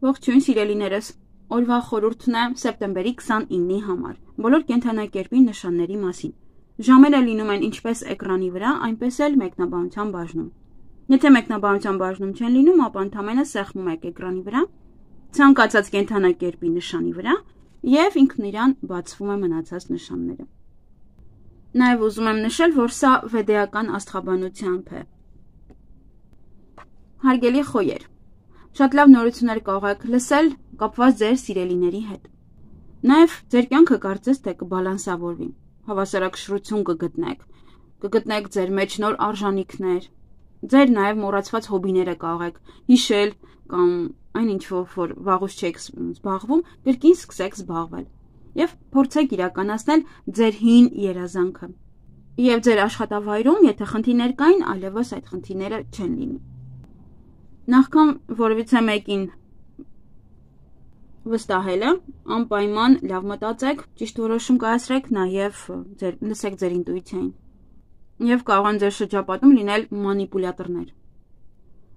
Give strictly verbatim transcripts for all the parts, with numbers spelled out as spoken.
Ողջույն սիրելիներս, օրվա խորհուրդն է սեպտեմբերի քսանինի համար, բոլոր կենդանակերպի նշանների մասին։ Ժամերը լինում են ինչպես էկրանի վրա, այնպես էլ մեկնաբանության բաժնում։ Եթե մեկնաբանության բաժնում չեն լինում, ապա ընդհանրապես սեղմում եք էկրանի վրա, ցանկացած կենդանակերպի նշանի վրա եւ ինքն իրան բացվում է մնացած նշանները։ Նաեւ ուզում եմ նշել, որ սա վեդեական աստղաբանությամբ է։ Հարգելի խոյեր, շատ լավ նորություններ կարող եք լսել կապված ձեր սիրելիների հետ։ Նաև ձեր կյանքը կարծես թե կբալանսավորվի, հավասարակշռություն կգտնեք, կգտնեք ձեր մեջ նոր արժանինքներ, ձեր նաև մոռացված հոբիները կարող եք հիշել կամ այն ինչ որ վաղուց չեք զբաղվում, կրկին սկսեք զբաղվել եւ փորձեք իրականացնել ձեր հին երազանքը։ Եվ ձեր աշխատավայրում, եթե խնդիրներ կային, այլևս այդ խնդիրները չեն լինի։ Նախքան որևիցե մեկին վստահելը, անպայման լավ մտածեք, ճիշտ որոշում կայացրեք, նաև ձեր լսեք ձեր ինտուիցիային։ Եվ կարող են ձեր շրջապատում լինել մանիպուլյատորներ։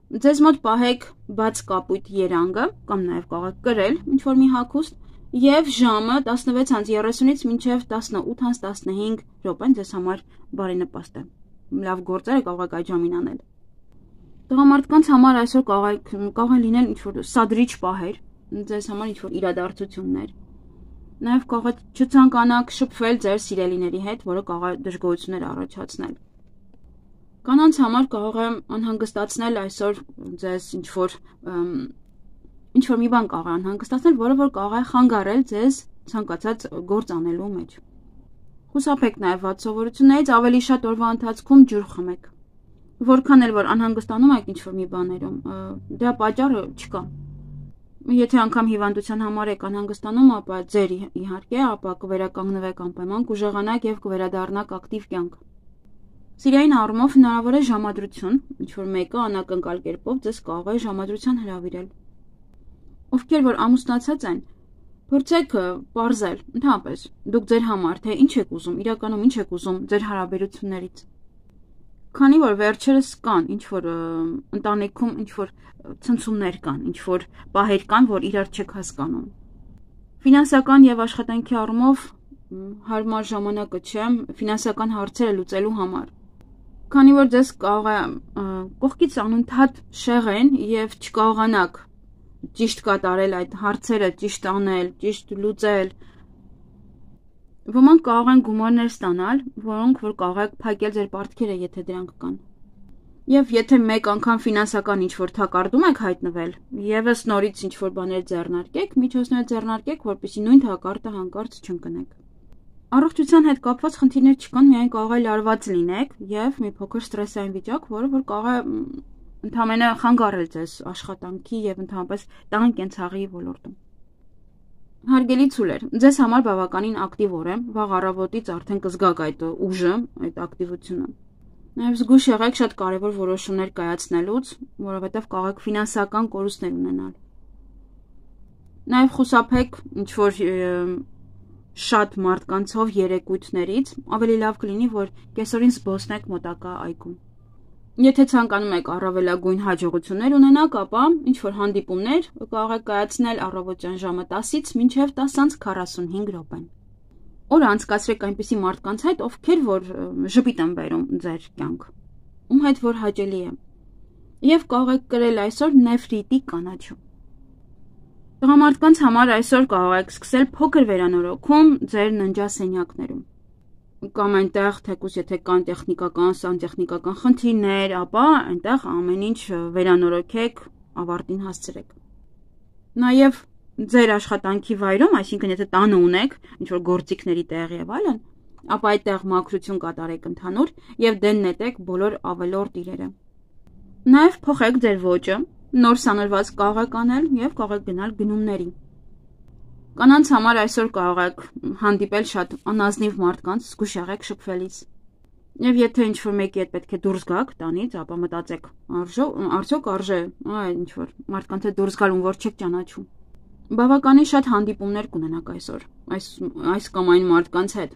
Ձեզ մոտ պահեք բաց կապույտ երանգը, կամ նաև կարող եք կրել ինչ-որ մի հագուստ, եւ ժամը տասնվեց երեսունից մինչև տասնութ տասնհինգ րոպեն ձեզ համար բարենպաստ է։ Լավ գործերը կարող եք այդ ժամին անել։ Տղամարդկանց համար այսօր կարող են լինել ինչ-որ սադրիչ պահեր, ձեզ համար ինչ-որ իրադարձություններ։ Նաև կարող եք չցանկանաք շփվել ձեր սիրելիների հետ, որը կարող է դժգոհություններ առաջացնել։ Կանանց համար կարող է անհանգստացնել այսօր ձեզ ինչ-որ ինչ-որ մի բան կարող է անհանգստացնել, որը որ կարող է խանգարել ձեզ ցանկացած գործ անելու մեջ։ Խուսափեք նաև վատ սովորություններից, ավելի շատ օրվա ընթացքում ջուր խմեք։ Որքան էլ որ անհանգստանում եք ինչ-որ մի բաներում, դրա պատճառը չկա։ Եթե անգամ հիվանդության համար եք անհանգստանում, ապա ձեր իհարկե, ապա կվերականգնվեք անպայման, կուժեղանաք եւ կվերադառնաք ակտիվ կյանք։ Սիրային առումով հնարավոր է ժամադրություն, ինչ-որ մեկը անակնկալ կերպով ձեզ կարող է ժամադրության հրավիրել։ Ովքեր որ ամուսնացած են, փորձեք պարզել, ընդհանրապես, դուք ձեր համար, թե ինչ եք ուզում, իրականում ինչ եք ուզում ձեր հարաբերություններից։ Քանի որ վերջերս կան ինչ-որ ընտանիքում ինչ-որ ցնցումներ կան, ինչ-որ պահեր կան, որ իրար չեք հասկանում։ Ֆինանսական եւ աշխատանքի առումով հարմար ժամանակը չէ ֆինանսական հարցերը լուծելու համար։ Քանի որ ձեզ կարող է կողքից անընդհատ շեղեն եւ չկարողանաք ճիշտ կատարել այդ հարցերը, ճիշտ անել, ճիշտ լուծել, ոմանք կարող են գումարներ ստանալ, որոնք որ կարող եք փակել ձեր պարտքերը, եթե դրանք կան։ Եվ եթե մեկ անգամ ֆինանսական ինչ-որ թակարդում եք հայտնվել, եւս նորից ինչ-որ բաներ ձեռնարկեք, միջոցներ ձեռնարկեք, որպեսզի նույն թակարդը հանկարծ չընկնեք։ Առողջության հետ կապված խնդիրներ չկան, միայն կարող է լարված լինեք եւ մի փոքր ստրեսային վիճակ, որը որ կարող է ընդհանրապես խանգարել ձեզ աշխատանքի եւ ընդհանրապես տան կենցաղի ոլորտում։ Հարգելի ցուլեր, ձեզ համար բավականին ակտիվ օր է, վաղ առավոտից արդեն կզգաք այդ ուժը, այդ ակտիվությունը։ Նաև զգույշ եղեք շատ կարևոր որոշումներ կայացնելուց, որովհետև կարող եք ֆինանսական կորուստներ ունենալ։ Նաև խուսափեք ինչ-որ շատ մարդկանցով երեկույթներից, ավելի լավ կլինի, որ կեսօրին զբոսնեք մոտակա այգում։ Եթե ցանկանում եք առավելագույն հաջողություններ ունենաք, ապա ինչ-որ հանդիպումներ կարող եք կայացնել առավոտյան ժամը տասից մինչև տասը քառասունհինգ րոպեն։ Օրը անցկացրեք այնպիսի մարդկանց հետ, ովքեր որ ժպիտ են բերում ձեր կյանք, ում հետ որ հաճելի է։ Եվ կարող եք կրել այսօր նեֆրիտի կանաչու։ Տղամարդկանց համար այսօր կարող եք սկսել փոքր վերանորոգում ձեր ննջասենյակներում։ Կամ այնտեղ, թեկուզ եթե կան տեխնիկական, սանտեխնիկական խնդիրներ, ապա այնտեղ ամեն ինչ վերանորոգեք, ավարտին հասցրեք։ Նաև ձեր աշխատանքի վայրում, այսինքն եթե տանը ունեք ինչ-որ գործիքների տեղ եւ այլն, ապա այդտեղ մաքրություն կատարեք ընդհանուր եւ դեն նետեք բոլոր ավելորդ իրերը։ Նաև փոխեք ձեր ոճը, նոր սանրված կարող եք անել եւ կարող եք գնալ գնումների։ Կանանց համար այսօր կարող եք հանդիպել շատ անազնիվ մարդկանց, զգույշ եղեք շփվելիս։ Եվ եթե ինչ-որ մեկի հետ պետք է դուրս գաք տանից, ապա մտածեք, արդյոք արժե այ ինչ-որ մարդկանց հետ դուրս գալ, ում որ չեք ճանաչում։ Բավականին շատ հանդիպումներ կունենաք այսօր, այս այս կամ այն մարդկանց հետ։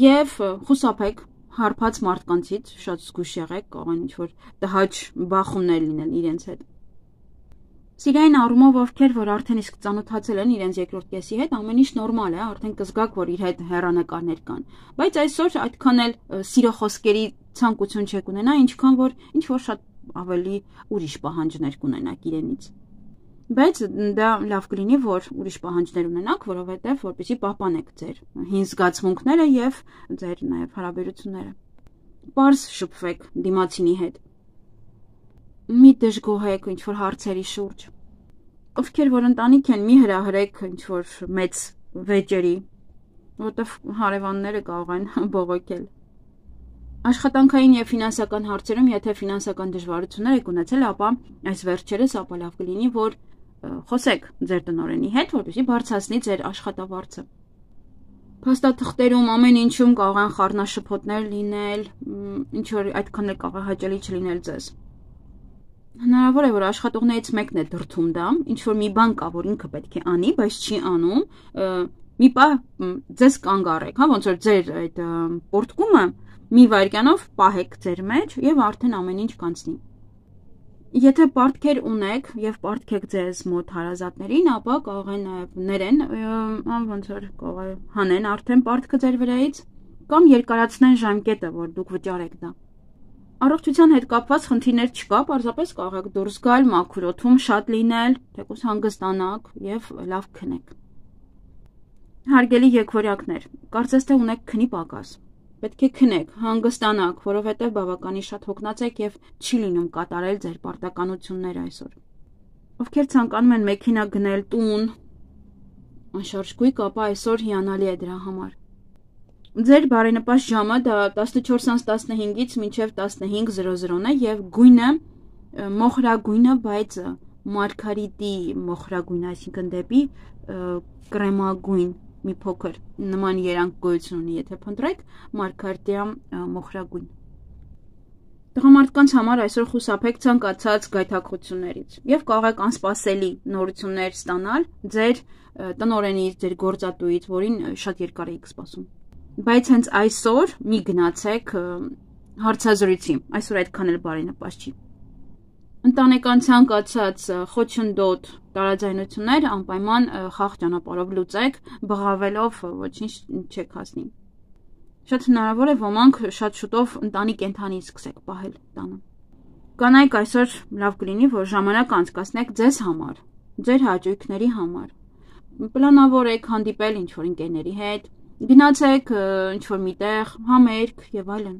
Եվ խուսափեք հարբած մարդկանցից, շատ զգույշ եղեք, կարող են ինչ-որ տհաճ բախումներ լինել իրենց հետ։ Սիրային առումով ովքեր, որ արդեն իսկ ծանոթացել են իրենց երկրորդ կեսի հետ, ամեն ինչ նորմալ է, արդեն կզգաք, որ իր հետ հեռանկարներ կան։ Բայց այսօր այդքան էլ սիրո խոսքերի ցանկություն չեք ունենա, ինչքան որ ինչ որ շատ ավելի ուրիշ պահանջներ կունենաք իրենից։ Բայց դա լավ կլինի, որ ուրիշ պահանջներ ունենաք, որովհետև որպեսզի պահպանեք ձեր հին զգացմունքները եւ ձեր նաեւ հարաբերությունները։ Պարզ շփվեք դիմացինի հետ։ Մի դժգոհեք ինչ որ հարցերի շուրջ։ Ովքեր որ ընտանիք են, մի հրահրեք ինչ որ մեծ վեճերի, որտեղ հարևանները կարող են բողոքել։ Աշխատանքային եւ ֆինանսական հարցերում, եթե ֆինանսական դժվարություններ եք ունեցել, ապա այս վերջերս ապա լավ կլինի, որ խոսեք ձեր տնօրենի հետ, որպեսզի բարձրացնի ձեր աշխատավարձը։ Փաստաթղթերում ամեն ինչում կարող են խառնաշփոթներ լինել, ինչ որ այդքան էլ կարող է հաճելի չլինել ձեզ։ Հնարավոր է, որ աշխատողներից մեկն է դրթում դա, ինչ որ մի բան կա, որ ինքը պետք է անի, բայց չի անում, մի պահ ձեզ կանգ առեք, հա, ոնց որ ձեր այդ պորտկումը մի վայրկյանով պահեք ձեր մեջ եւ արդեն ամեն ինչ կանցնի։ Եթե պարտքեր ունեք եւ պարտքեք ձեզ մոտ հարազատներին, ապա կարող են նաեւ ներեն, ոնց որ կարող է հանեն արդեն պարտքը ձեր վրայից կամ երկարացնեն ժամկետը, որ դուք վճարեք դա։ Առողջության հետ կապված խնդիրներ չկա, պարզապես կարող եք դուրս գալ, մաքուր օդում շատ լինել, թեկուզ հանգստանաք եւ լավ քնեք։ Հարգելի եկվորյակներ, կարծես թե ունեք քնի պակաս։ Պետք է քնեք, հանգստանաք, որովհետև բավականին շատ հոգնած եք եւ չի լինում կատարել ձեր պարտականությունները այսօր։ Ովքեր ցանկանում են մեքենա գնել, տուն, անշարժ գույք, ապա այսօր հիանալի է դրա համար։ Ձեր բարենպաստ ժամը դա տասնչորս տասնհինգից մինչև տասնհինգ զրո զրոն է եւ գույնը մոխրագույնը, բայց մարգարիտի մոխրագույն, այսինքն դեպի կրեմագույն մի փոքր նման երանգ գոյություն ունի, եթե փնտրեք մարգարիտիա մոխրագույն։ Տղամարդկանց համար այսօր խուսափեք ցանկացած գայթակղություններից եւ կարող եք անսպասելի նորություններ ստանալ ձեր տնօրենից, ձեր գործատուից, որին շատ երկար եք սպասում։ Բայց հենց այսօր մի գնացեք հարցազրույցի, այսօր այդքան էլ բարենպաստ չի։ Ընտանեկան ցանկացած խոչընդոտ տարաձայնություններ անպայման խաղ ճանապարհով լուծեք, բղավելով ոչինչ չեք հասնի։ Շատ հնարավոր է ոմանք շատ շուտով ընտանի կենդանի սկսեք պահել տանը։ Կանայք այսօր լավ կլինի, որ ժամանակ անցկացնեք ձեզ համար, ձեր հաճույքների համար։ Պլանավորեք հանդիպել ինչ-որ ընկերների հետ, գնացեք ինչ-որ միտեղ, համերգ եւ այլն։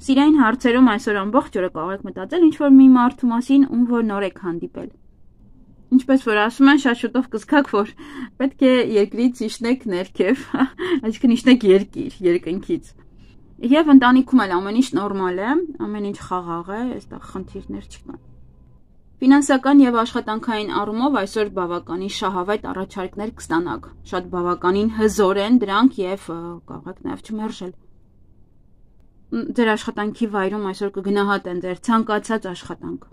Սիրային հարցերում այսօր ամբողջ օրը կարող եք մտածել ինչ-որ մի մարդու մասին, ում որ նոր եք հանդիպել։ Ինչպես որ ասում են, շատ շուտով կզգաք, որ պետք է երկրից իջնեք ներքև, այսինքն իջնեք երկիր, երկնքից։ Եվ ընտանիքում էլ ամեն ինչ նորմալ է, ամեն ինչ խաղաղ է, այստեղ խնդիրներ չկան։ Ֆինանսական եւ աշխատանքային առումով այսօր բավականին շահավետ առաջարկներ կստանաք։ Շատ բավականին հզոր են դրանք եւ կարող եք նաեւ չմերժել։ Ձեր աշխատանքի վայրում այսօր կգնահատեն ձեր ցանկացած աշխատանք։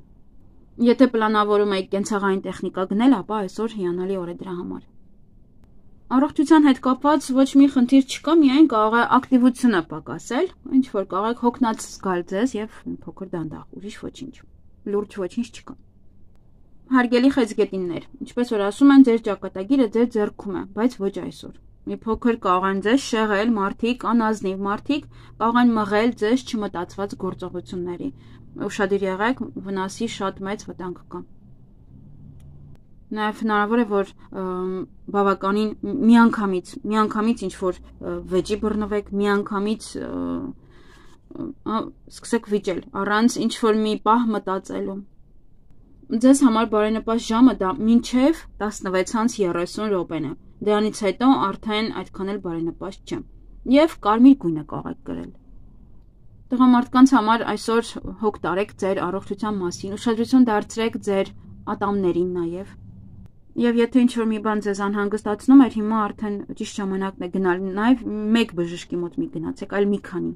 Եթե պլանավորում եք կենցաղային տեխնիկա գնել, ապա այսօր հիանալի օր է դրա համար։ Առողջության հետ կապված ոչ մի խնդիր չկա, միայն կարող է ակտիվությունը պակասել, ինչ որ կարող եք հոգնած զգալ ձեզ եւ փոքր դանդաղ, ուրիշ ոչինչ։ Լուրջ ոչինչ չկա։ Հարգելի խեցգետիններ, ինչպես որ ասում են, ձեր ճակատագիրը ձեր ձեռքում է, բայց ոչ այսօր։ Մի փոքր կարող են ձեզ շեղել մարդիկ, անազնիվ մարդիկ, կարող են մղել ձեզ չմտածված գործողությունների։ Ուշադիր եղեք, վնասի շատ մեծ վտանգ կա։ Նաև հնարավոր է, որ բավականին միանգամից, միանգամից ինչ որ վեճի բռնվեք, միանգամից սկսեք վիճել, առանց ինչ որ մի պահ մտածելու։ Ձեզ համար բարենպաստ ժամը դա մինչև տասնվեց երեսուն րոպեն է։ Դրանից հետո արդեն այդքան էլ բարենպաստ չէ։ Եվ կարմիր գույնը կարող եք կրել։ Տղամարդկանց համար այսօր հոգ տարեք ձեր առողջության մասին, ուշադրություն դարձրեք ձեր ատամներին նաև։ Եվ եթե ինչ-որ մի բան ձեզ անհանգստացնում էր, հիմա արդեն ճիշտ ժամանակն է գնալ, նաև մեկ բժշկի մոտ մի գնացեք, այլ մի քանի։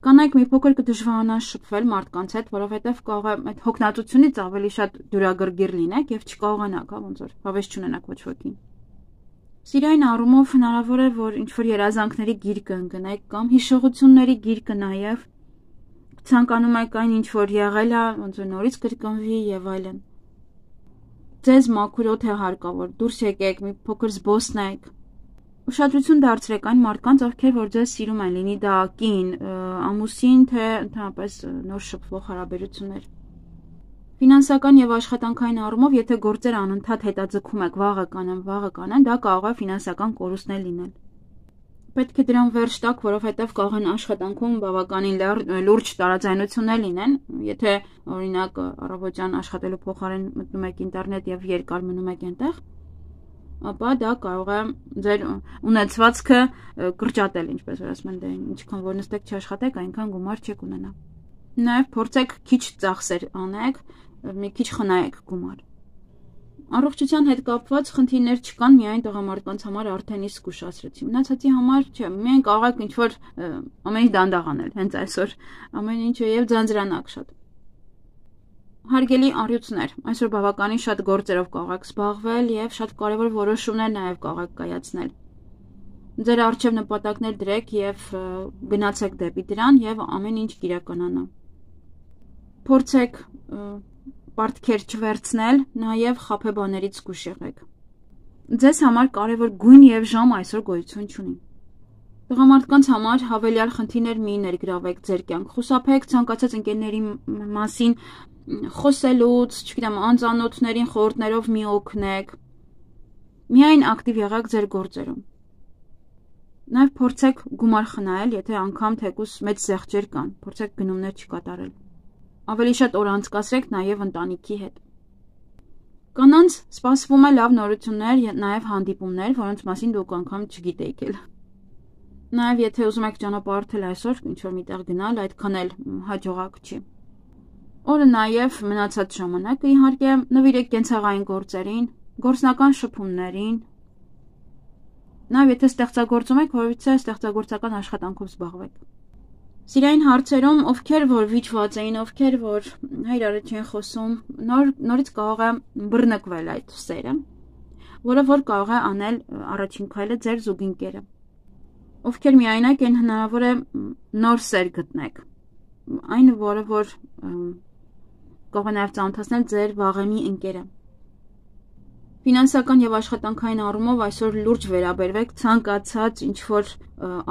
Կանայք մի փոքր կդժվարանան շփվել մարդկանց հետ, որովհետև կարող է այդ հոգնածությունից ավելի շատ դյուրագրգիռ լինեք եւ չկարողանաք, հա, ոնց որ հավես չունենաք ոչ ոքին։ Սիրային առումով հնարավոր է, որ ինչ-որ երազանքների գիրկը ընկնեք կամ հիշողությունների գիրկը նաև ցանկանում եք այն ինչ որ եղել է, ոնց որ նորից կրկնվի եւ այլն։ Ձեզ մաքուրոտ է հարկավոր, դուրս եկեք, մի փոքր զբոսնեք։ Ուշադրություն դարձրեք այն մարդկանց, ովքեր որ ձեզ սիրում են, լինի դա կին, ամուսին, թե ընդհանրապես նոր շփվող հարաբերություններ։ Ֆինանսական եւ աշխատանքային առումով, եթե գործերը անընդհատ հետաձգում եք, վաղը կանեմ, վաղը կանեմ, դա կարող է ֆինանսական կորուստներ լինել։ Պետք է դրան վերջ տակ, որովհետև կարող են աշխատանքում բավականին լուրջ տարաձայնություններ լինեն, եթե օրինակ առավոտյան աշխատելու փոխարեն մտնում եք ինտերնետ եւ երկար մնում եք այնտեղ, ապա դա կարող է ձեր ունեցվածքը կրճատել, ինչպես որ ասում են, դե ինչքան որ նստեք չաշխատեք, այնքան գումար չեք ունենա։ Նաեւ փորձեք քիչ ծախսեր անեք, մի քիչ խնայեք գումար։ Առողջության հետ կապված խնդիրներ չկան, միայն տղամարդկանց համար արդեն իսկ ուշացրեցի։ Մնացածի համար չէ, միայն կարող եք ինչ-որ ամեն ինչ դանդաղ անել, հենց այսօր ամեն ինչը եւ ձանձրանաք շատ։ Հարգելի առյուծներ, այսօր բավականին շատ գործերով կարող եք զբաղվել եւ շատ կարեւոր որոշումներ նաեւ կարող եք կայացնել։ Ձեր առջև նպատակներ դրեք եւ գնացեք դեպի դրան եւ ամեն ինչ կիրականանա։ Փորձեք պարտքեր չվերցնել, նաև խաբեբաներից զգույշ եղեք։ Ձեզ համար կարևոր գույն եւ ժամ այսօր գոյություն չունի։ Տղամարդկանց համար հավելյալ խնդիրներ մի ներգրավեք ձեր կյանք։ Խուսափեք ցանկացած ընկերների մասին խոսելուց, չգիտեմ, անծանոթներին խորհուրդներով մի օգնեք։ Միայն ակտիվ եղեք ձեր գործերում։ Նաև փորձեք գումար խնայել, եթե անգամ թեկուզ մեծ զեղչեր կան, փորձեք գնումներ չկատարել։ Ավելի շատ օր անցկացրեք նաև ընտանիքի հետ։ Կանանց սպասվում է լավ նորություններ, նաև հանդիպումներ, որոնց մասին դուք անգամ չգիտեիք էլ։ Նաև եթե ուզում եք ճանապարհորդել այսօր, ինչ-որ միտեղ գնալ, այդքան էլ հաջողակ չի։ Օրը նաև մնացած ժամանակը իհարկե նվիրեք կենցաղային գործերին, գործնական շփումներին։ Նաև եթե ստեղծագործում եք, որովհետեւ ստեղծագործական աշխատանքով զբաղվեք։ Սիրային հարցերում, ովքեր որ վիճված էին, ովքեր որ հայրարը չեն խոսում, նոր, նորից կարող է բռնկվել այդ սերը, որը որ կարող է անել առաջին քայլը ձեր զուգընկերը։ Ովքեր միայնակ են, հնարավոր է նոր սեր գտնեք, այն որը որ կարող է նաև ծանոթացնել ձեր վաղեմի ընկերը։ Ֆինանսական եւ աշխատանքային առումով այսօր լուրջ վերաբերվեք ցանկացած ինչ-որ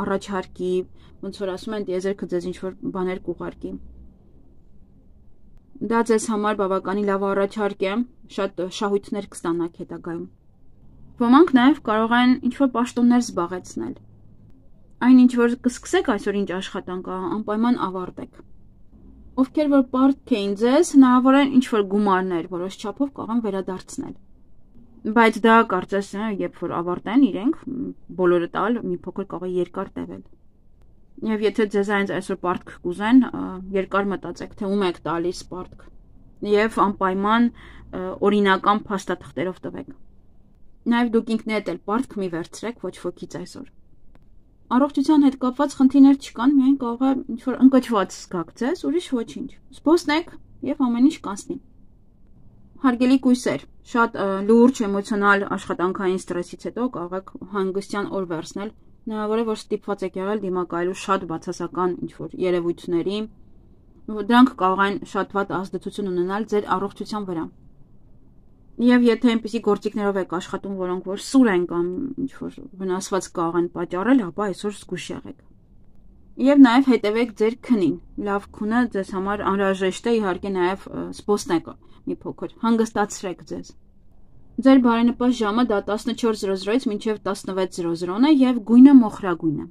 առաջարկի, ոնց որ ասում են, դիեզերքը ձեզ ինչ-որ բաներ կուղարկի։ Դա ձեզ համար բավականին լավ առաջարկ է, շատ շահույթներ կստանաք հետագայում։ Ոմանք նաև կարող են ինչ-որ պաշտոններ զբաղեցնել։ Այն ինչ որ կսկսեք այսօր ինչ աշխատանք, անպայման ավարտեք։ Ովքեր որ պարտք էին ձեզ, հնարավոր է ինչ-որ գումարներ որոշ չափով կարող են վերադարձնել։ Բայց դա կարծես երբ որ ավարտեն իրենք, բոլորը տալ, մի փոքր կարող է երկար տևել։ Եվ եթե ձեզ այնց այսօր պարտք կուզեն, երկար մտածեք, թե ում եք տալիս պարտք, եւ անպայման օրինական փաստաթղթերով տվեք։ Նաեւ դուք ինքներդ էլ պարտք մի վերցրեք ոչ ոքից այսօր։ Առողջության հետ կապված խնդիրներ չկան, միայն կարող է ինչ-որ ընկճված զգաք ձեզ, ուրիշ ոչինչ։ Զբոսնեք եւ ամեն ինչ կանցնի։ Հարգելի կույսեր, շատ լուրջ էմոցիոնալ աշխատանքային ստրեսից հետո կարող եք հանգստյան օր վերցնել, հնարավոր է որ ստիպված եք եղել դիմակայելու շատ բացասական ինչ-որ երևույթների, դրանք կարող են շատ վատ ազդեցություն ունենալ ձեր առողջության վրա։ Եվ եթե այնպիսի գործիքներով եք աշխատում, որոնք որ սուր են կամ ինչ-որ վնասված կարող են պատճառել, ապա այսօր զգույշ եղեք։ Եվ նաև հետևեք ձեր քնին։ Լավ քունը ձեզ համար անհրաժեշտ է, իհարկե նաև զբոսնեք մի փոքր, հանգստացրեք ձեզ։ Ձեր բարենպաստ ժամը դա տասնչորս զրո զրոից մինչև տասնվեց զրո զրոն է եւ գույնը մոխրագույն է։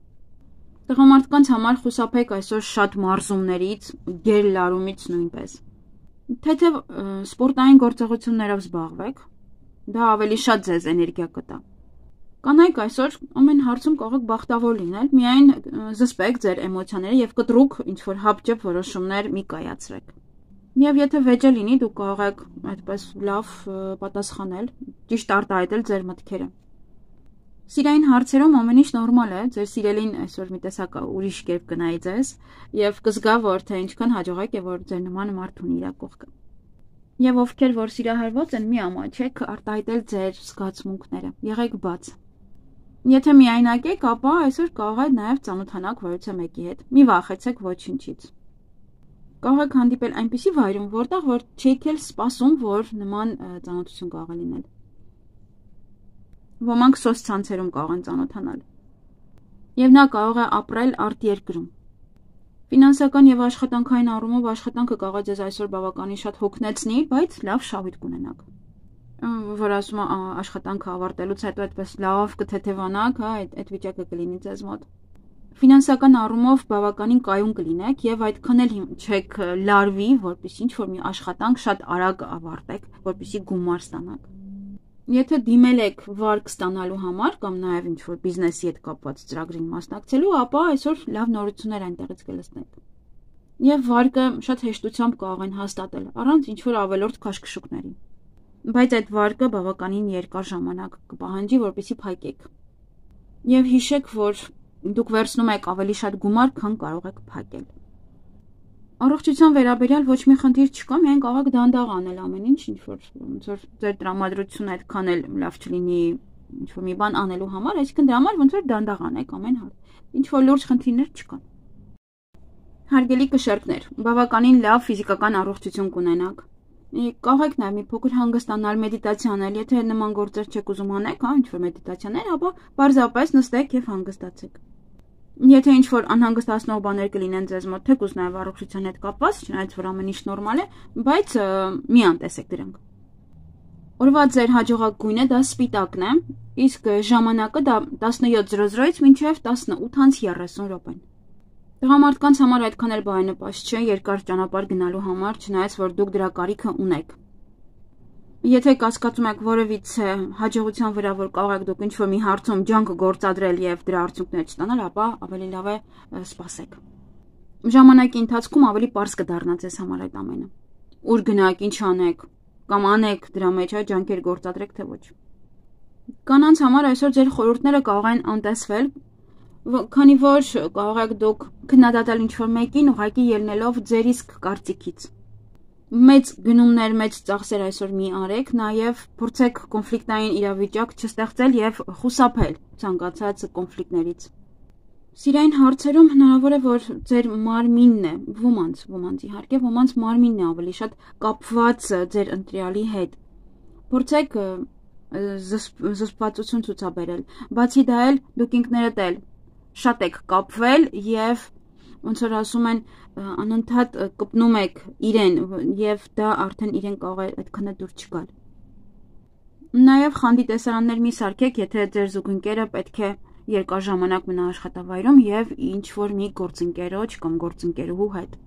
Տղամարդկանց համար խուսափեք այսօր շատ մարզումներից, գերլարումից նույնպես։ Թեթև սպորտային գործողություններով զբաղվեք, դա ավելի շատ ձեզ էներգիա կտա։ Կանայք այսօր ամեն հարցում կարող եք բախտավոր լինել, միայն զսպեք ձեր էմոցիաները եւ կտրուկ ինչ-որ հապճեպ որոշումներ մի կայացրեք։ Եվ եթե վեճը լինի, դուք կարող եք այդպես լավ պատասխանել, ճիշտ արտահայտել ձեր մտքերը։ Սիրային հարցերում ամեն ինչ նորմալ է, ձեր սիրելին այսօր մի տեսակ ուրիշ կերպ կնայի ձեզ եւ կզգա, որ թե ինչքան հաջողակ է, որ ձեր նման մարդ ունի իր կողքը։ Եվ ովքեր որ սիրահարված են, մի ամաչեք արտահայտել ձեր զգացմունքները, եղեք բաց։ Եթե միայնակ եք, ապա այսօր կարող եք նաև ծանոթանալ որևէ մեկի հետ։ Մի վախեցեք ոչինչից։ Կարող եք հանդիպել այնպիսի վայրում, որտեղ որ չեք էլ սպասում, որ նման ծանոթություն կարող է լինել։ Ոմանք սոցցանցերում կարող են ծանոթանալ։ Եվ նա կարող է ապրել արտերկրում։ Ֆինանսական եւ աշխատանքային առումով աշխատանքը կարող է ձեզ այսօր բավականին շատ հոգնեցնի, բայց լավ շահույթ կունենաք։ Որ ասում է աշխատանքը ավարտելուց հետո այդպես լավ կթեթևանաք, հա, այդ այդ վիճակը կլինի ձեզ մոտ։ Ֆինանսական առումով բավականին կայուն կլինեք եւ այդքան էլ չեք լարվի, որպեսզի ինչ որ մի աշխատանք շատ արագ ավարտեք, որպեսզի գումար ստանաք։ Եթե դիմել եք վարկ ստանալու համար կամ նաեւ ինչ որ բիզնեսի հետ կապված ծրագրին մասնակցելու, ապա այսօր լավ նորություններ այնտեղից կլսնեք։ Եվ վարկը շատ հեշտությամբ կարող են հաստատել առանց ինչ որ ավելորդ քաշքշուկների։ Բայց այդ վարկը բավականին երկար ժամանակ կպահանջի, որպեսզի փակեք։ Եվ հիշեք, որ դուք վերցնում եք ավելի շատ գումար, քան կարող եք փակել։ Առողջության վերաբերյալ ոչ մի խնդիր չկա, միայն կարող եք դանդաղ անել ամեն ինչ, ինչ որ ոնց որ ձեր տրամադրությունը այդքան էլ լավ չլինի, ինչ որ մի բան անելու համար, այսինքն դրա համար ոնց որ դանդաղ անեք ամեն հատ։ Ինչ որ լուրջ խնդիրներ չկան։ Հարգելի կշերտներ, բավականին լավ ֆիզիկական առողջություն կունենաք։ Կարող եք նաև մի փոքր հանգստանալ, մեդիտացիա անել, եթե նման գործեր չեք ուզում անեք, հա, ինչ որ մեդիտացիաներ, ապա պարզապես նստեք եւ հանգստացեք։ Եթե ինչ որ անհանգստացնող բաներ կլինեն ձեզ մոտ, թեկուզ նաև առողջության հետ կապված, չնայած որ ամեն ինչ նորմալ է, բայց մի անտեսեք դրանք։ Օրվա ձեր հաջողակ գույնը դա սպիտակն է, իսկ ժամանակը դա տասնյոթ զրո զրոից մինչև տասնութ երեսուն րոպեն։ Տղամարդկանց համար այդքան էլ բարենպաստ չէ երկար ճանապարհ գնալու համար, չնայած որ դուք դրա կարիքը ունեք։ Եթե կասկածում եք որևիցե հաջողության վրա, որ կարող եք դուք ինչ-որ մի հարցում ջանք գործադրել եւ դրա արդյունքներ չստանալ, ապա ավելի լավ է սպասեք։ Ժամանակի ընթացքում ավելի པարզ կդառնա ձեզ համար այդ ամենը։ Ուր գնաք, ինչ անեք, կամ անեք դրա մեջ այ ջանքեր գործադրեք թե ոչ։ Կանանց համար այսօր ձեր խորհուրդները կարող են անտեսվել, քանի որ կարող եք դուք քննադատել ինչ-որ մեկին ուղղակի ելնելով ձեր իսկ կարծիքից։ Մեծ գնումներ, մեծ ծախսեր այսօր մի արեք, նաև փորձեք կոնֆլիկտային իրավիճակ չստեղծել եւ խուսափել ցանկացած կոնֆլիկտներից։ Սիրային հարցերում հնարավոր է, որ ձեր մարմինն է, ոմանց, ոմանց իհարկե, ոմանց մարմինն է ավելի շատ կապված ձեր ընտրյալի հետ։ Փորձեք զսպվածություն ցուցաբերել։ Բացի դա էլ դուք ինքներդ էլ շատ եք կապվել եւ ոնց որ ասում են անընդհատ կպնում եք իրեն եւ դա արդեն իրեն կարող է այդքան դուր չգալ։ Նաեւ խանդի տեսարաններ մի սարքեք, եթե ձեր զուգընկերը պետք է երկար ժամանակ մնա աշխատավայրում եւ ինչ որ մի գործընկերոջ կամ գործընկերուհու հետ։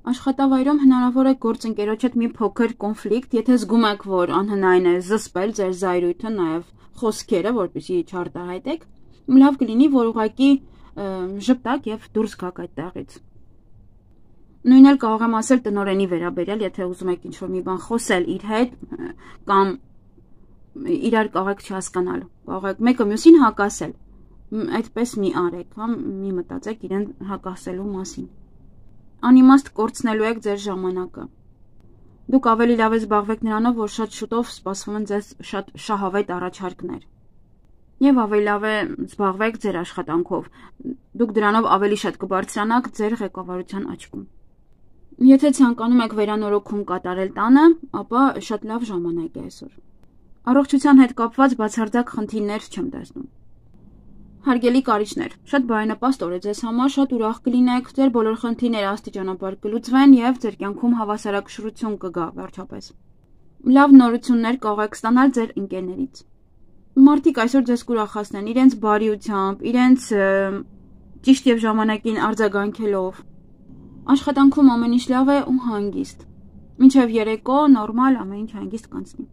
Աշխատավայրում հնարավոր է գործընկերոջ հետ մի փոքր կոնֆլիկտ, եթե զգում եք, որ անհնարին է զսպել ձեր զայրույթը, նաեւ խոսքերը, որպեսզի չարտահայտեք, լավ կլինի, որ ուղղակի ժպտակ եւ դուրս գաք այդտեղից։ Նույնն էլ կարող եմ ասել տնօրենի վերաբերյալ, եթե ուզում եք ինչ-որ մի բան խոսել իր հետ կամ իրար կարող եք չհասկանալ, կարող եք մեկը մյուսին հակասել, այդպես մի արեք, հա, մի մտածեք իրեն հակասելու մասին։ Անիմաստ կորցնելու եք ձեր ժամանակը։ Դուք ավելի լավ է զբաղվեք նրանով, որ շատ շուտով սպասվում են ձեզ շատ շահավետ առաջարկներ։ Եվ ավելի լավ է զբաղվեք ձեր աշխատանքով, դուք դրանով ավելի շատ կբարձրանաք ձեր ղեկավարության աչքում։ Եթե ցանկանում եք վերանորոգում կատարել տանը, ապա շատ լավ ժամանակ է այսօր։ Առողջության հետ կապված բացարձակ խնդիրներ չեմ տեսնում։ Հարգելի կարիճներ, շատ բարենպաստ օր է ձեզ համար, շատ ուրախ կլինեք, ձեր բոլոր խնդիրները աստիճանաբար կլուծվեն եւ ձեր կյանքում հավասարակշռություն կգա վերջապես։ Լավ նորություններ կարող եք ստանալ ձեր ընկերներից։ Մարդիկ այսօր ձեզ կուրախացնեն իրենց բարիությամբ, իրենց ճիշտ եւ ժամանակին արձագանքելով։ Աշխատանքում ամեն ինչ լավ է ու հանգիստ։ Մինչև երեկո նորմալ ամեն ինչ հանգիստ կանցնի։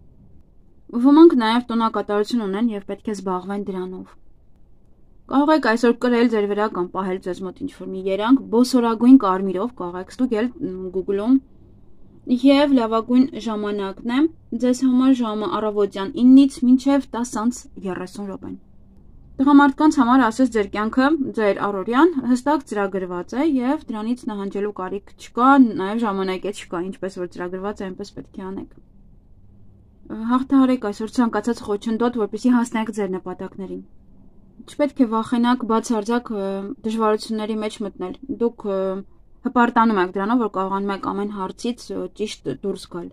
Ոմանք նաեւ տոնակատարություն ունեն եւ պետք է զբաղվեն դրանով։ Կարող եք այսօր կրել ձեր վրա կամ պահել ձեզ մոտ ինչ-որ մի երանգ, բոսորագույն կարմիրով կարող եք ստուգել Google-ում։ Եվ լավագույն ժամանակն է ձեզ համար ժամը առավոտյան իննից մինչև տասը երեսուն րոպեն։ Տղամարդկանց համար ասես ձեր կյանքը, ձեր առօրյան հստակ ծրագրված է եւ դրանից նահանջելու կարիք չկա, նաեւ ժամանակ է չկա, ինչպես որ ծրագրված է, այնպես պետք է անեք։ Հաղթահարեք այսօր ցանկացած խոչընդոտ, որպեսզի հասնեք ձեր նպատակներին։ Չպետք է վախենաք բացարձակ դժվարությունների մեջ մտնել։ Դուք հպարտանում եք դրանով, որ կարողանում եք ամեն հարցից ճիշտ դուրս գալ։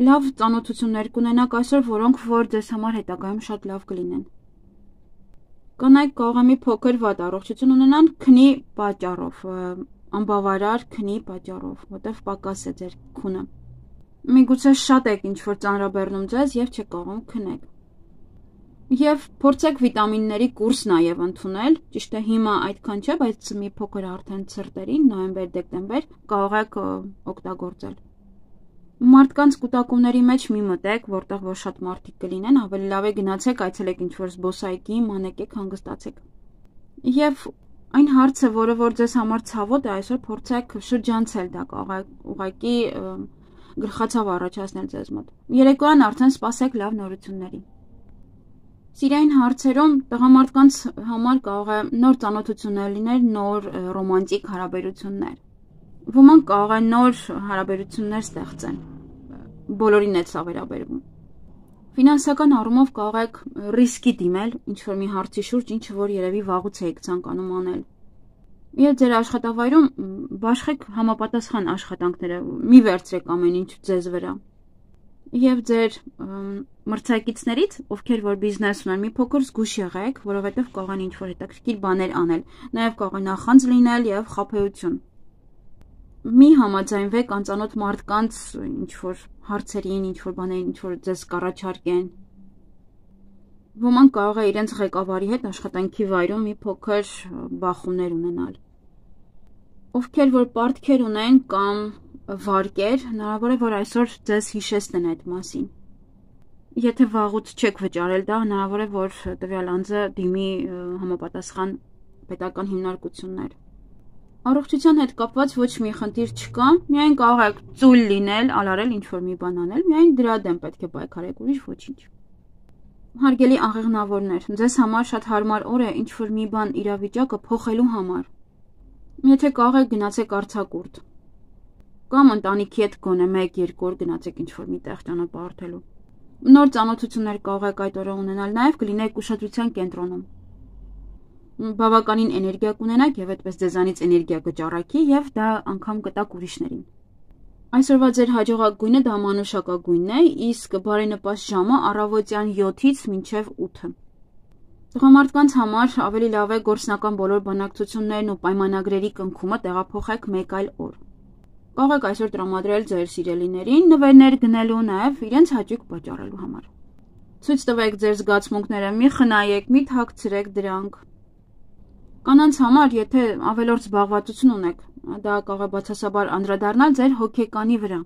Լավ ծանոթություններ կունենաք այսօր, որոնք որ ձեզ համար հետագայում շատ լավ կլինեն։ Կանայք կարող է մի փոքր վատ առողջություն ունենան քնի պատճառով, անբավարար քնի պատճառով, որտեղ պակաս է ձեր քունը։ Միգուցե շատ եք ինչ-որ ծանրաբեռնում ձեզ եւ չեք կարողում քնել։ Եվ փորձեք վիտամինների կուրս նաև ընդունել, ճիշտ է հիմա այդքան չէ, բայց մի փոքր արդեն ցրտերին, նոյեմբեր-դեկտեմբեր կարող եք օգտագործել։ Մարդկանց կուտակումների մեջ մի մտեք, որտեղ որ շատ մարդիկ կլինեն, ավելի լավ է գնացեք, այցելեք ինչ-որ զբոսայգի, մանեկեք, հանգստացեք։ Եվ այն հարցը, որը որ ձեզ համար ցավոտ է, այսօր փորձեք շրջանցել դա, կարող է ուղղակի գլխացավ առաջացնել ձեզ մոտ։ Երեկոյան արդեն սպասեք լավ նորությունների։ Սիրային հարցերում տղամարդկանց համար կարող է նոր ծանոթություններ լինել, նոր ռոմանտիկ հարաբերություններ։ Ոմանք կարող է նոր հարաբերություններ ստեղծեն։ Բոլորին է սա վերաբերվում։ Ֆինանսական առումով կարող եք ռիսկի դիմել ինչ-որ մի հարցի շուրջ, ինչը որ երևի վաղուց եք ցանկանում անել։ Եվ ձեր աշխատավայրում բաշխեք համապատասխան աշխատանքները, մի վերցրեք ամեն ինչ ձեզ վրա։ Եվ ձեր մրցակիցներից, ովքեր որ բիզնես ունեն, մի փոքր զգուշ եղեք, որովհետև կարող են ինչ-որ հետաքրքիր բաներ անել, նաև կարող է նախանձ լինել եւ խաբեություն։ Մի համաձայնվեք անծանոթ մարդկանց ինչ-որ հարցերին, ինչ-որ բաներին, ինչ-որ ձեզ կառաջարկեն։ Ոմանք կարող է իրենց ղեկավարի հետ աշխատանքի վայրում մի փոքր բախումներ ունենալ։ Ովքեր որ պարտքեր ունեն կամ վարկեր, հնարավոր է, որ այսօր ձեզ հիշեցնեն այդ մասին։ Եթե վաղուց չեք վճարել դա, հնարավոր է, որ տվյալ անձը դիմի համապատասխան պետական հիմնարկություններ։ Առողջության հետ կապված ոչ մի խնդիր չկա, միայն կարող եք ծույլ լինել, ալարել ինչ-որ մի բան անել, միայն դրա դեմ պետք է պայքարեք, ուրիշ ոչինչ։ Հարգելի աղեղնավորներ, ձեզ համար շատ հարմար օր է ինչ-որ մի բան իրավիճակը փոխելու համար։ Եթե կարող եք գնացեք արձակուրդ կամ ընտանիքի հետ գոնե մեկ-երկու օր գնացեք ինչ-որ մի տեղ ճանապարհորդելու։ Նոր ծանոթություններ կարող եք այդ օրը ունենալ, նաև կլինեք ուշադրության կենտրոնում։ Բավականին էներգիա կունենաք եւ այդպես ձեզանից էներգիա կճառակի եւ դա անգամ կտակ ուրիշներին։ Այսօրվա ձեր հաջողակ գույնը դա մանուշակագույնն է, իսկ բարենպաստ ժամը առավոտյան յոթից մինչև ութը։ Տղամարդկանց համար ավելի լավ է գործնական բոլոր բանակցություններն ու պայմանագրերի կնքումը տեղափոխեք մեկ այլ օր։ Կարող եք այսօր տրամադրել ձեր սիրելիներին նվերներ գնելու, նաև իրենց հաճույք պատճառելու համար։ Ցույց տվեք ձեր զգացմունքները, մի խնայեք, մի թաքցրեք դրանք։ Կանանց համար, եթե ավելորդ զբաղվածություն ունեք, դա կարող է բացասաբար անդրադառնալ ձեր հոգեկանի վրա։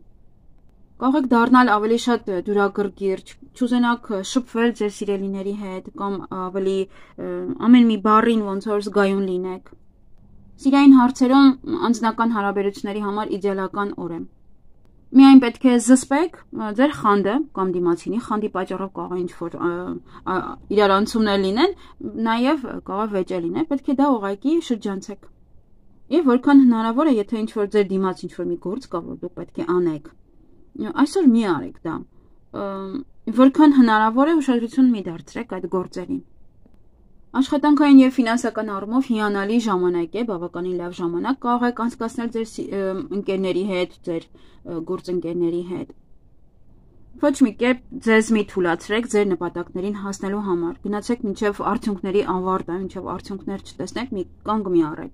Կարող եք դառնալ ավելի շատ դուրագրգիռ, չուզենաք շփվել ձեր սիրելիների հետ կամ ավելի ամեն մի բառին ոնց որ զգայուն լինեք։ Սիրային հարցերում անձնական հարաբերությունների համար իդեալական օր է։ Միայն պետք է զսպեք ձեր խանդը կամ դիմացինի խանդի պատճառով կարող է ինչ-որ իրարանցումներ լինեն, նաև կարող է վեճը լինել, պետք է դա ուղղակի շրջանցեք։ Եվ որքան հնարավոր է, եթե ինչ-որ ձեր դիմաց ինչ-որ մի գործ կա, որ դուք պետք է անեք, այսօր մի արեք դա։ Որքան հնարավոր է ուշադրություն մի դարձրեք այդ գործերին։ Աշխատանքային եւ ֆինանսական առումով հիանալի ժամանակ է, բավականին լավ ժամանակ կարող եք անցկացնել ձեր ընկերների հետ, ձեր գործընկերների հետ։ Ոչ մի կերպ ձեզ մի թույլատրեք ձեր նպատակներին հասնելու համար։ Գնացեք մինչև արդյունքների ավարտը, մինչև արդյունքներ չտեսնեք, մի կանգ մի առեք։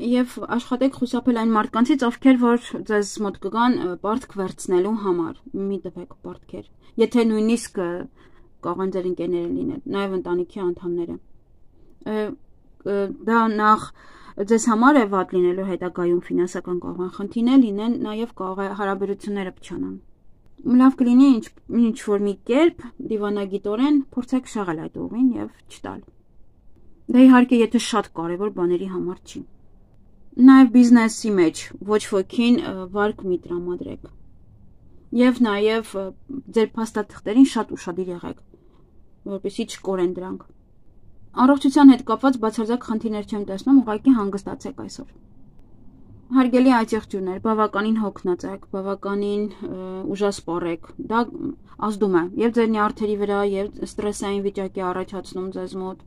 Եվ աշխատեք խուսափել այն մարդկանցից, ովքեր որ ձեզ մոտ կգան պարտք վերցնելու համար։ Մի տվեք պարտքեր։ Եթե նույնիսկ կարող են ձեր ընկերները լինել, նաև ընտանիքի անդամները։ Դա նախ ձեզ համար է վատ լինելու հետագայում ֆինանսական կարող են խնդիրներ լինեն, նաև կարող է հարաբերությունները փչանան։ Լավ կլինի ինչ որ մի կերպ դիվանագիտորեն փորձեք շաղել այդ ուղին եւ չտալ։ Դա իհարկե եթե շատ կարևոր բաների համար չի։ Նաև բիզնեսի մեջ ոչ ոքին վարկ մի տրամադրեք։ Եվ նաև ձեր փաստաթղթերին շատ ուշադիր եղեք, որպեսզի չկորեն դրանք։ Առողջության հետ կապված բացարձակ խնդիրներ չեմ տեսնում, ուղղակի հանգստացեք այսօր։ Հարգելի այցեղջյուրներ, բավականին հոգնած եք, բավականին ուժասպառ եք, դա ազդում է եւ ձեր նյարդերի վրա, եւ ստրեսային վիճակի առաջացնում ձեզ մոտ։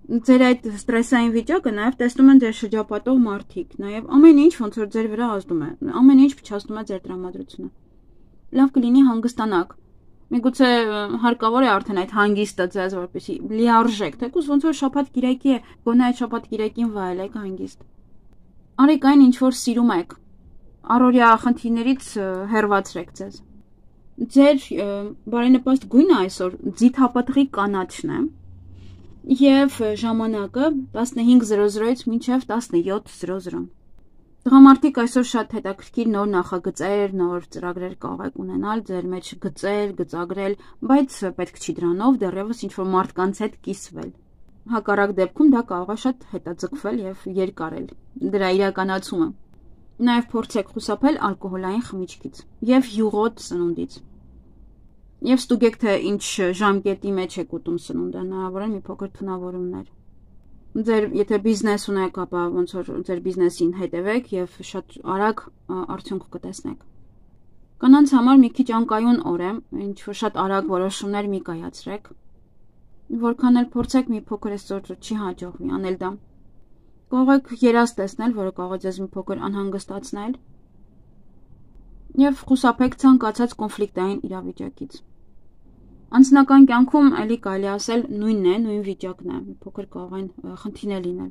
Ձեր այդ ստրեսային վիճակը նաև տեսնում են ձեր շրջապատող մարդիկ, նաև ամեն ինչ ոնց որ ձեր վրա ազդում է, ամեն ինչ փչացնում է ձեր տրամադրությունը։ Լավ կլինի հանգստանաք։ Միգուցե հարկավոր է արդեն այդ հանգիստը ձեզ որպեսզի լիարժեք, թեկուզ ոնց որ շաբաթ-կիրակի է, գոնե այդ շաբաթ-կիրակին վայելեք հանգիստ։ Արեք այն, ինչ որ սիրում եք։ Առօրյա խնդիրներից հեռացրեք ձեզ։ Ձեր բարենպաստ գույնը այսօր ձիթապտղի կանաչն է և ժամանակը տասնհինգ զրո զրոից մինչև տասնյոթ զրո զրո։ Տղամարդիկ այսօր շատ հետաքրքիր նոր նախագծեր, նոր ծրագրեր կարող եք ունենալ, ձեր մեջ գծել, գծագրել, բայց պետք չի դրանով դեռևս ինչ-որ մարդկանց հետ կիսվել։ Հակառակ դեպքում դա կարող է շատ հետաձգվել և երկարել դրա իրականացումը։ Նաև փորձեք խուսափել ալկոհոլային խմիչքից և յուղոտ սնունդից։ Եվ ստուգեք, թե ինչ ժամկետի մեջ եք ուտում սնունդը, հնարավոր է մի փոքր թունավորումներ։ Ձեր եթե բիզնես ունեք, ապա ոնց որ ձեր բիզնեսին հետևեք և շատ արագ արդյունք կտեսնեք։ Կանանց համար մի քիչ անկայուն օր է, ինչ որ շատ արագ որոշումներ մի կայացրեք։ Որքան էլ փորձեք, մի փոքր այսօր չի հաջողվի անել դա։ Կարող եք երազ տեսնել, որը կարող է ձեզ մի փոքր անհանգստացնել և խուսափեք ցանկացած կոնֆլիկտային իրավիճակից։ Անձնական կյանքում էլի կարելի ասել նույնն է, նույն վիճակն է, մի փոքր կարող են խնդիրներ լինել։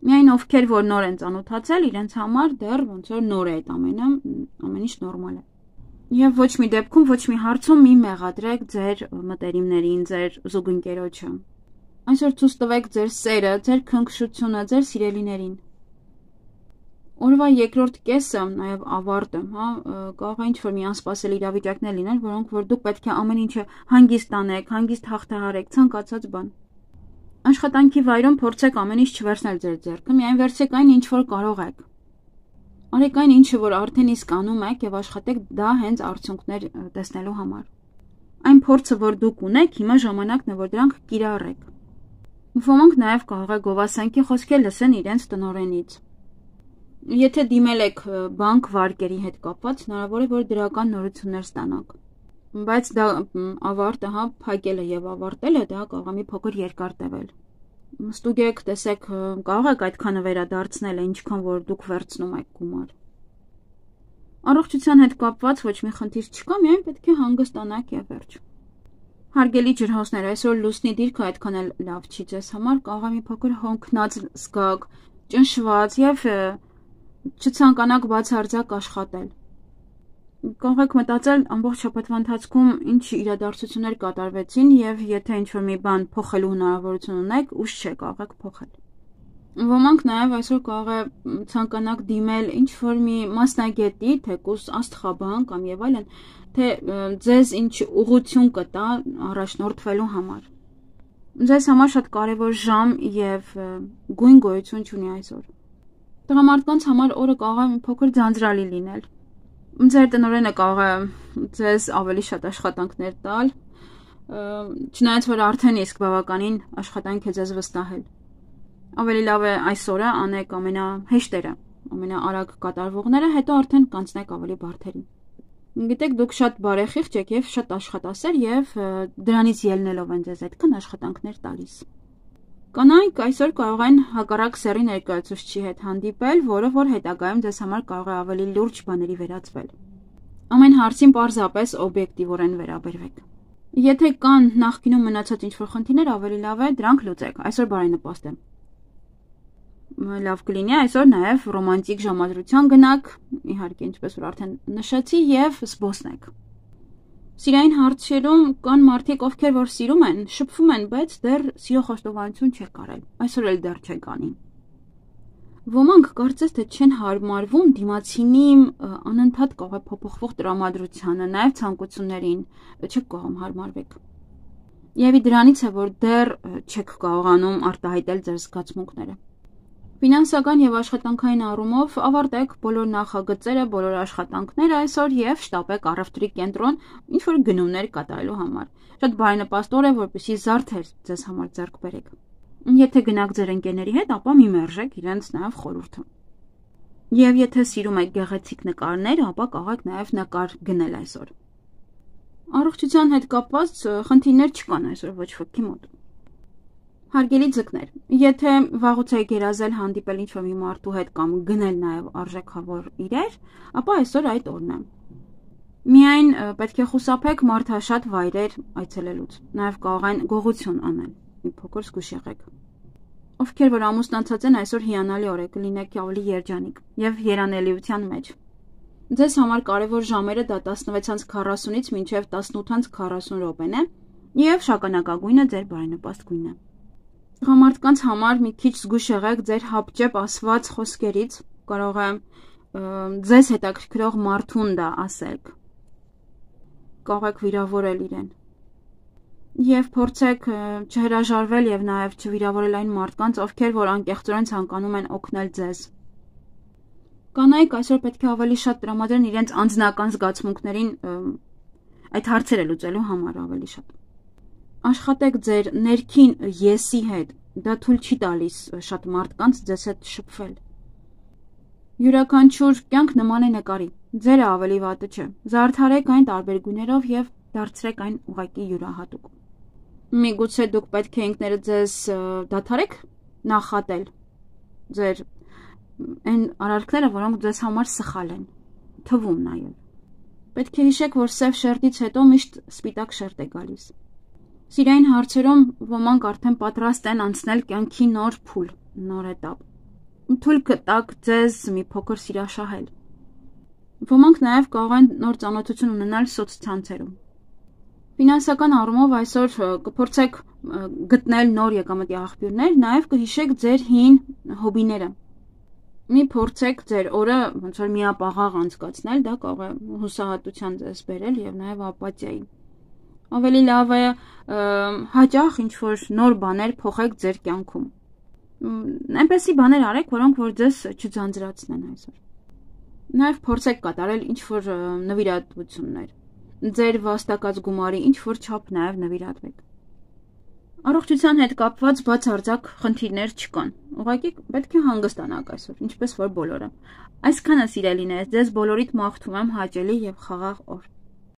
Միայն ովքեր որ նոր են ծանոթացել, իրենց համար դեռ ոնց որ նոր է այդ ամենը, ամեն ինչ նորմալ է։ Եվ ոչ մի դեպքում, ոչ մի հարցում մի մեղադրեք ձեր մտերիմներին, ձեր զուգընկերոջը։ Այսօր ցույց տվեք ձեր սերը, ձեր քնքշությունը, ձեր սիրելիներին։ Օրվա երկրորդ կեսը, նաև ավարտը, հա, կարող է ինչ-որ մի անսպասելի իրավիճակներ լինել, որոնք որ դուք պետք է ամեն ինչը հանգիստ անեք, հանգիստ հաղթահարեք, ցանկացած բան։ Աշխատանքի վայրում փորձեք ամեն ինչ չվերցնել ձեր ձեռքը, միայն վերցրեք այն, ինչ որ կարող եք։ Արեք այն, ինչը որ արդեն իսկ անում եք եւ աշխատեք դա հենց արդյունքներ տեսնելու համար։ Այն փորձը, որ դուք ունեք, հիմա ժամանակն է, որ դրանք կիրառեք։ Ոմանք նաև կարող է գովասանքի խոսքեր լսեն իրենց տնօրենից։ Եթե դիմել եք բանկ վարկերի հետ կապված, հնարավոր է, որ դրական նորություններ ստանաք։ Բայց դա ավարտը, հա, փակելը եւ ավարտելը դա կարող է մի փոքր երկար տևել։ Ստուգեք, տեսեք, կարող եք այդքանը վերադարձնել, ինչքան որ դուք վերցնում եք գումար։ Առողջության հետ կապված ոչ մի խնդիր չկա, միայն պետք է հանգստանաք եւ վերջ։ Հարգելի ջրհոսներ, այսօր լուսնի դիրքը այդքան էլ լավ չի ձեզ համար, կարող է մի փոքր հոնքնած զգաք, ճնշված եւ չցանկանաք բացարձակ աշխատել։ Կարող եք մտածել ամբողջ շաբաթվա ընթացքում ինչ իրադարձություններ կատարվեցին եւ եթե ինչ-որ մի բան փոխելու հնարավորություն ունեք, ուշ չէ, կարող եք փոխել։ Ոմանք նաեւ այսօր կարող է ցանկանաք դիմել ինչ-որ մի մասնագետի, թեկուզ աստղաբան կամ եւ այլն, թե ձեզ ինչ ուղղություն կտա առաջնորդվելու համար։ Ձեզ համար շատ կարեւոր ժամ եւ գույն գոյություն ունի այսօր։ Տղամարդկանց համար օրը կարող է մի փոքր ձանձրալի լինել։ Ձեր տնօրենը կարող է ձեզ ավելի շատ աշխատանքներ տալ, չնայած որ արդեն իսկ բավականին աշխատանք է ձեզ վստահել։ Ավելի լավ է այսօրը անեք ամենահեշտերը, ամենաարագ կատարվողները, հետո արդեն կանցնեք ավելի բարդերին։ Գիտեք, դուք շատ բարեխիղճ եք եւ շատ աշխատասեր եւ դրանից ելնելով են ձեզ այդքան աշխատանքներ տալիս։ Կանայք այսօր կարող են հակառակ սեռի ներկայացուցչի հետ հանդիպել, որը որ հետագայում ձեզ համար կարող է ավելի լուրջ բաների վերածվել։ Ամեն հարցին պարզապես օբյեկտիվորեն վերաբերվեք։ Եթե կան նախկինում մնացած ինչ-որ խնդիրներ, ավելի լավ է դրանք լուծեք։ Այսօր բարենպաստ է։ Լավ կլինի այսօր նաև ռոմանտիկ ժամադրության գնաք, իհարկե ինչպես որ արդեն նշեցի, եւ զբոսնեք։ Սիրային հարցերում կան մարդիկ, ովքեր որ սիրում են, շփվում են, բայց դեռ սիրո խոստովանություն չեք արել։ Այսօր էլ դեռ չեք անի։ Ոմանք կարծես թե չեն հարմարվում դիմացինի անընդհատ կարող է փոփոխվող տրամադրությանը, նաև ցանկություններին, չեք կարող հարմարվեք։ Եվ դրանից է, որ դեռ չեք կարողանում արտահայտել ձեր զգացմունքները։ Ֆինանսական եւ աշխատանքային առումով ավարտեք բոլոր նախագծերը, բոլոր աշխատանքները այսօր եւ շտապեք առևտրի կենտրոն ինչ որ գնումներ կատարելու համար։ Շատ բարենպաստ օր է, որպեսզի զարդեր ձեզ համար ձեռք բերեք։ Եթե գնաք ձեր ընկերների հետ, ապա մի մերժեք իրենց նաեւ խորհուրդը։ Եվ եթե սիրում եք գեղեցիկ նկարներ, ապա կարող եք նաեւ նկար գնել այսօր։ Առողջության հետ կապված խնդիրներ չկան այսօր ոչ ոքի մոտ։ Հարգելի ձկներ, եթե վաղուց եք երազել հանդիպել ինչ-որ մի մարդու հետ կամ գնել նաև արժեքավոր իրեր, ապա այսօր այդ օրն է։ Միայն պետք է խուսափեք մարդաշատ վայրեր այցելելուց, նաև կարող են գողություն անել, մի փոքր զգուշ եղեք։ Ովքեր որ ամուսնացած են, այսօր հիանալի օր է, կլինեք ավելի երջանիկ եւ երանելիության մեջ։ Ձեզ համար կարևոր ժամերը դա տասնվեց քառասունից մինչև տասնութ քառասուն րոպեն է եւ շագանակագույնը ձեր բարենպաստ գույնն է։ Տղամարդկանց համար մի քիչ զգուշ եղեք ձեր հապճեպ ասված խոսքերից, կարող է ձեզ հետաքրքրող մարդուն դա ասեք, կարող եք վիրավորել իրեն եւ փորձեք չհրաժարվել եւ նաեւ չվիրավորել այն մարդկանց, ովքեր որ անկեղծորեն ցանկանում են օգնել ձեզ։ Կանայք այսօր պետք է ավելի շատ տրամադրեն իրենց անձնական զգացմունքներին այդ հարցերը լուծելու համար ավելի շատ։ Աշխատեք ձեր ներքին եսի հետ, դա թույլ չի տալիս շատ մարդկանց ձեզ հետ շփվել։ Յուրաքանչյուր կյանք նման է նկարի, ձերը ավելի վատը չէ, զարդարեք այն տարբեր գույներով եւ դարձրեք այն ուղղակի յուրահատուկ։ Միգուցե դուք պետք է ինքներդ ձեզ դադարեք նախատել ձեր այն արարքները, որոնք ձեզ համար սխալ են, թվում նաեւ։ Պետք է հիշեք, որ սև շերտից հետո միշտ սպիտակ շերտ է գալիս։ Սիրային հարցերում ոմանք արդեն պատրաստ են անցնել կյանքի նոր փուլ, նոր էտապ։ Թույլ կտակ ձեզ մի փոքր սիրաշահել։ Ոմանք նաև կարող են նոր ծանոթություն ունենալ սոցցանցերում։ Ֆինանսական առումով այսօր կփորձեք գտնել նոր եկամտի աղբյուրներ, նաև կհիշեք ձեր հին հոբիները։ Մի փորձեք ձեր օրը ոնց որ միապաղաղ անցկացնել, դա կարող է հուսահատության ձեզ բերել եւ նաև ապաթիայի։ Ավելի լավ է հաճախ ինչ-որ նոր բաներ փոխեք ձեր կյանքում։ Այնպեսի բաներ արեք, որոնք որ ձեզ չձանձրացնեն այսօր։ Նաև փորձեք կատարել ինչ-որ նվիրատվություններ։ Ձեր վաստակած գումարի ինչ-որ չափ նաև նվիրատվեք։ Առողջության հետ կապված բացարձակ խնդիրներ չկան։ Ուղղակի պետք է հանգստանաք այսօր, ինչպես որ բոլորը։ Այսքանը սիրելիներս, ձեզ բոլորիդ մաղթում եմ հաճելի եւ խաղաղ օր։